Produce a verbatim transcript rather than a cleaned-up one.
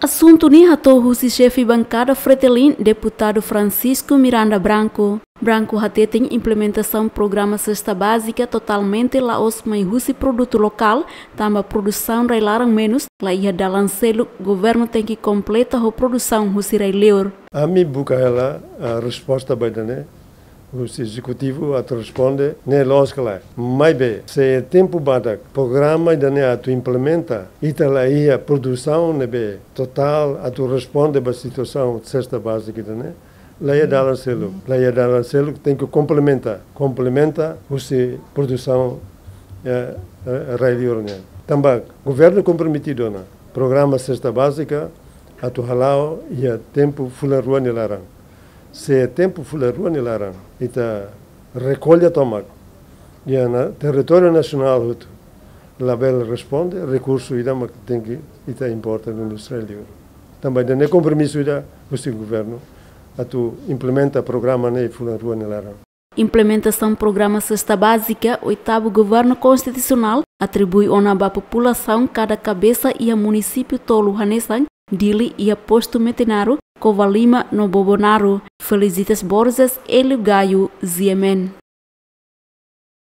Asuntu ne'e hato'o husi xefe bankada Fretilin, Deputadu Francisco Miranda Branco. Branco hateten implementasaun programa sesta bázika totalmente la'ós mai husi produtu lokál, tanba produsaun rai-laran menus, la iha dalan seluk, governu tenke kompleta ho produsaun husi rai-liur. Ami buka hela, ah, resposta ba ida-ne'e, husi ezekutivu atu responde, ne'e loos ka lae. Maibé, se tempu badak programa ida-ne'e atu implementa, ita la iha produsaun ne'ebé totál atu responde ba situasaun sesta bázika ida-ne'e, la iha dalan seluk, la iha dalan seluk, tenke komplementa, komplementa husi produsaun, eh, eh, rai-liur nian. Tanba governu komprometidu ona programa sesta bázika atu hala'o iha tempu fulan rua nia laran. Se tempu fulan rua nia laran ita rekolla tomak iha territóriu nasionál hotu, labele responde, rekursu ida mak tenke ita importa duni husi rai-liur. Tanba ida-ne'e kompromisu ida husi governu atu implementa programa ne'e fulan rua nia laran. Implementasaun programa sesta bázika oitavu governu konstitusionál atribui ona ba populasaun kada kabesa iha munisípiu tolu hanesan Dili iha postu Metinaro, Covalima no Bobonaro. Felicitas Borges, Hélio Gaio, G M N.